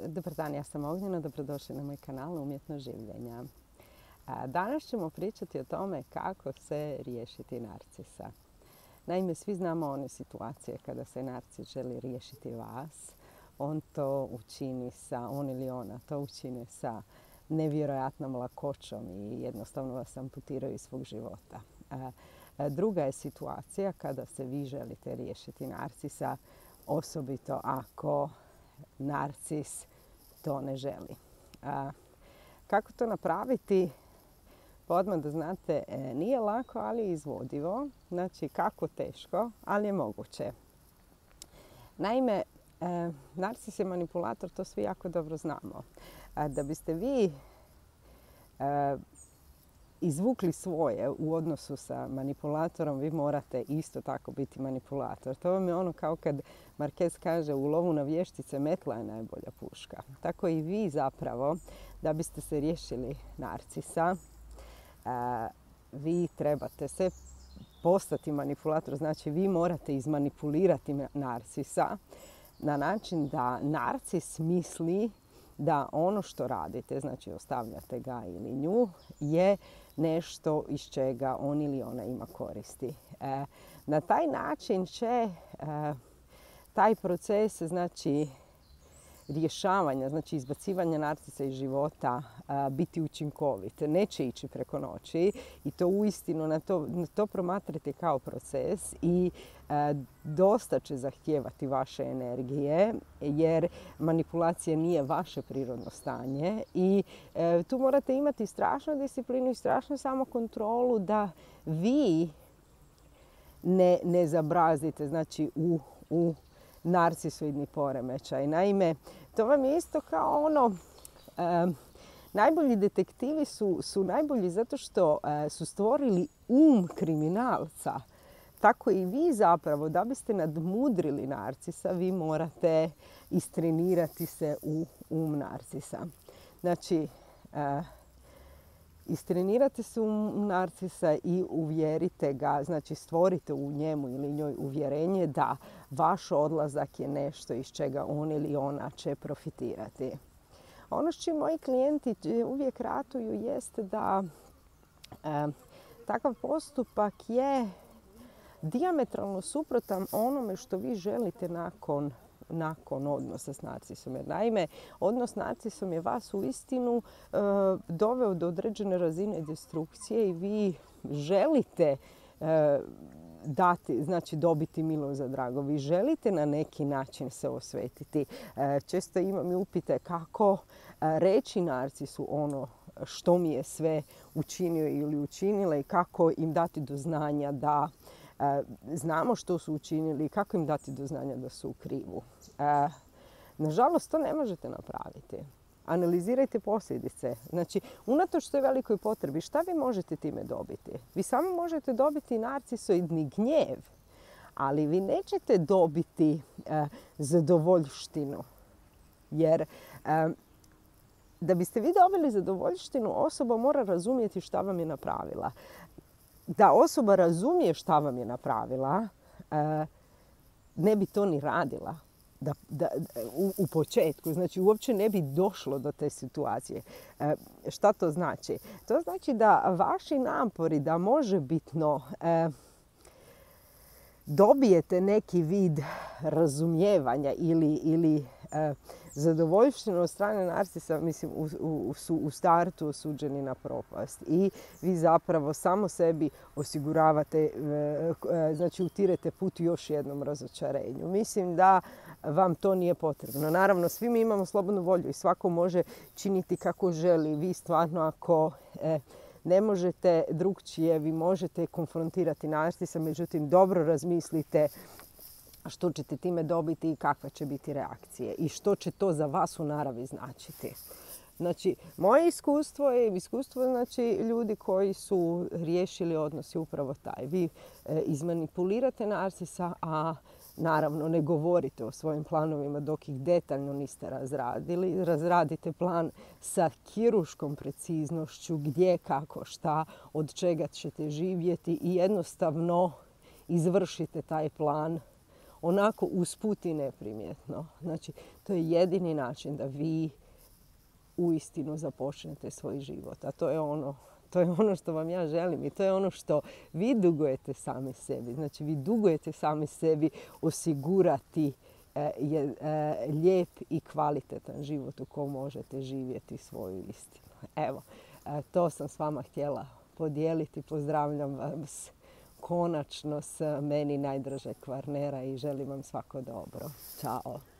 Dobar dan, ja sam Ognjena, dobrodošli na moj kanal Umjetno življenja. Danas ćemo pričati o tome kako se riješiti narcisa. Naime, svi znamo one situacije kada se narcis želi riješiti vas. On ili ona to učini sa nevjerojatnom lakoćom i jednostavno vas amputiraju iz svog života. Druga je situacija kada se vi želite riješiti narcisa, osobito ako narcis to ne želi. Kako to napraviti? Pa odmah da znate, nije lako, ali je izvodivo. Znači, kako teško, ali je moguće. Naime, narcis je manipulator, to svi jako dobro znamo. Da biste vi izvukli svoje u odnosu sa manipulatorom, vi morate isto tako biti manipulator. To vam je ono kao kad Marquez kaže u lovu na vještice metla je najbolja puška. Tako i vi zapravo, da biste se riješili narcisa, vi trebate se postati manipulator. Znači, vi morate izmanipulirati narcisa na način da narcis misli da ono što radite, znači ostavljate ga ili nju, je nešto iz čega on ili ona ima koristi. Na taj način će taj proces, znači rješavanja, znači izbacivanja narcisa iz života biti učinkovit. Neće ići preko noći i to uistinu na to promatrate kao proces i dosta će zahtijevati vaše energije jer manipulacija nije vaše prirodno stanje i tu morate imati strašnu disciplinu i strašnu samokontrolu da vi ne zabrazite, znači u narcisoidni poremećaj. Naime, to vam je isto kao ono, najbolji detektivi su najbolji zato što su stvorili kriminalca. Tako i vi zapravo, da biste nadmudrili narcisa, vi morate istrenirati se u narcisa. Znači, istrenirate se u narcisa i uvjerite ga, znači stvorite u njemu ili njoj uvjerenje da vaš odlazak je nešto iz čega on ili ona će profitirati. Ono što moji klijenti uvijek ratuju jeste da takav postupak je dijametralno suprotan onome što vi želite nakon odnosa s narcisom. Jer naime, odnos s narcisom je vas uistinu doveo do određene razine destrukcije i vi želite dobiti milo za drago. Vi želite na neki način se osvetiti. Često imam i upite kako reći narcisu ono što mi je sve učinio ili učinila i kako im dati do znanja da znamo što su učinili i kako im dati do znanja da su u krivu. Nažalost, to ne možete napraviti. Analizirajte posljedice. Znači, unatoč toj velikoj potrebi, šta vi možete time dobiti? Vi samo možete dobiti narcisoidni gnjev, ali vi nećete dobiti zadovoljštinu. Jer da biste vi dobili zadovoljštinu, osoba mora razumjeti šta vam je napravila. Da osoba razumije šta vam je napravila, ne bi to ni radila u početku. Znači, uopće ne bi došlo do te situacije. Šta to znači? To znači da vaši napori da možebitno dobijete neki vid razumijevanja ili zadovoljštinu od strane narcisa, mislim, su u startu osuđeni na propast. I vi zapravo samo sebi osiguravate, znači utirete put još jednom razočarenju. Mislim da vam to nije potrebno. Naravno, svi mi imamo slobodnu volju i svako može činiti kako želi. Vi stvarno, ako ne možete drugčije, vi možete konfrontirati narcisa, međutim, dobro razmislite što ćete time dobiti i kakve će biti reakcije i što će to za vas u naravi značiti. Znači, moje iskustvo je iskustvo ljudi koji su riješili odnos je upravo taj. Vi izmanipulirate narcisa, a naravno ne govorite o svojim planovima dok ih detaljno niste razradili. Razradite plan sa kirurškom preciznošću gdje, kako, šta, od čega ćete živjeti i jednostavno izvršite taj plan onako usput i neprimjetno. Znači, to je jedini način da vi uistinu započnete svoj život. A to je ono što vam ja želim i to je ono što vi dugujete sami sebi. Znači, vi dugujete sami sebi osigurati lijep i kvalitetan život u kojem možete živjeti svoju istinu. Evo, to sam s vama htjela podijeliti. Pozdravljam vas konačno s meni najdražeg Kvarnera i želim vam svako dobro. Ćao!